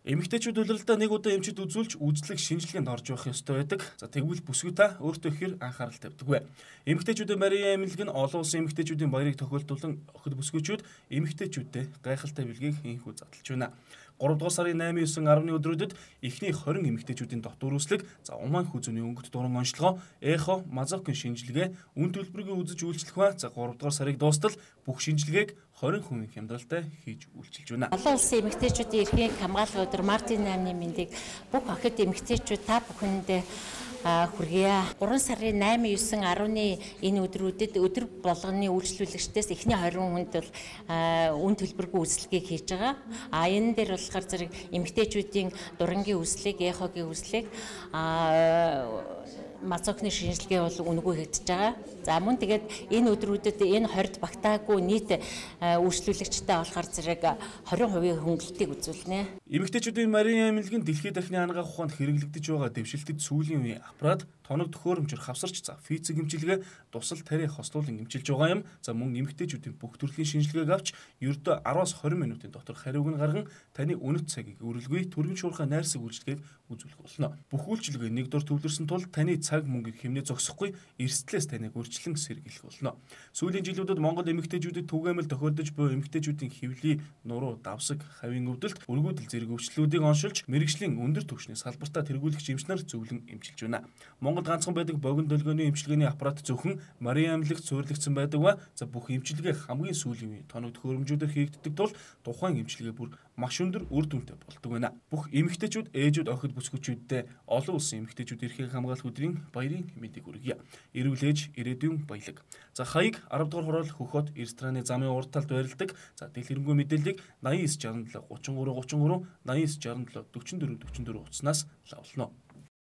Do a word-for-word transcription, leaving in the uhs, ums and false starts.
Эмэгтэйчүүд улиралдаа нэг удаа эмчит үзүүлж үзлэг шинжилгээнд орж явах ёстой байдаг. За тэгвэл бүсгүй та өөртөө ихээр анхаарал тавьдаг вэ. Эмэгтэйчүүдийн Марийн эмнэлэг нь олон улсын эмэгтэйчүүдийн баярыг тохиолдуулан охид бүсгүйчүүд эмэгтэйчүүдэд гайхалтай бэлгийг инхүү задлж байна. гурав дугаар сарын найман, девять, десет өдрүүдэд эхний тwenty эмэгтэйчүүдийн дотор үүслэг, за Уман хүзүүний өнгөт дуран онцлогоо, эхо, мазокын шинжилгээ, үн төлбөрийг үзэж үйлчлэх ба за гурав дугаар сарыг дуустал бүх шинжилгээг twenty хүн хямдралтай хийж үйлчилж байна. Олон улсын эмэгтэйчүүдийн эрхийн хамгааллын өдөр Мартин наймны мэндийг бүх охид эмэгтэйчүүд та бүхэндээ хүргье. гурван сарын найман, девять, ten энэ өдрүүдэд өдөр болгоны үйлчлүүлэгчдээс эхний twenty хүнд бол үн төлбөргүй үйлчлэгийг хийж байгаа. А энэ дээр болохоор зэрэг эмэгтэйчүүдийн дурангийн үйлчлэг, эхогийн үйлчлэг, мацокны шинжилгээ бол үнэгүй хийгдэж байгаа. За мөн тэгээд энэ өдрүүдэд энэ twenty багтаагүй нийт үйлчлүүлэгчтэй болохоор зэрэг twenty percent хөнгөлөлтийг үзүүлнэ. Эмэгтэйчүүдийн Марийн эмнэлэг нь дэлхийд дахины ангаах ухаанд хэрэглэгдэж байгаа дэвшилтэд сүүлийн үеийн аппарат, тоног төхөөрөмжөр хавсарч, за физик эмчилгээ, тусал тариа хослуулан эмчилж байгаа юм. За мөн эмэгтэйчүүдийн бүх төрлийн шинжилгээг авч ердөө ten-аас twenty минутын дотор хариуг нь гарган таны үнэт цагийг үрэлгүй түргэн шуурхай найрсаг үйлчлэгийг үзүүлэх болно. Бүх үйлчилгээ нэг дор төвлөрсөн тул таны цаг мөнгийг хэмнээ зогсохгүй эрсдлээс таныг үрчлэн сэргийлэх болно. Сүүлийн жилүүдэд Монгол эмэгтэйчүүдэд түгээмэл тохиолдож буй эмэгтэйчүүдийн хөвлийн нуруу, давсаг, хавийн өвдөлт, өргүүдэл зэрэг өвчлөлүүдийг оншилж мэрэгжлийн өндөр түвшний салбартаа тэргүүлэгч эмч нар зөвлөн эмчилж байна. Монгол ганцхан байдаг богино долгионы эмчилгээний аппарат зөвхөн Марийн эмнэлэгт суурилагдсан байдаг ба за бүх эмчилгээ хамгийн сүүлийн үеийн тоног төхөөрөмжүүдээр хийгддэг тул тухайн эмчилгээ бүр маш өндөр үр дүнтэй болдог байна. Бүх эмэгтэйчүүд, ээжүүд, охид бүсгүйчүүддээ олон улсын эмэгтэйчүүд эрхийн хамгаалах өдрийн баярын мэндийг хүргье. Эрүүл ээж, ирээдүйн баялаг. За хаяг ten дугаар хурал хөхөт рестораны замын урд талд байрладаг. За дэлгэрэнгүй мэдээллийг ninety nine sixty seven thirty-three thirty-three ninety nine sixty seven forty-four forty-four утаснаас лавлно.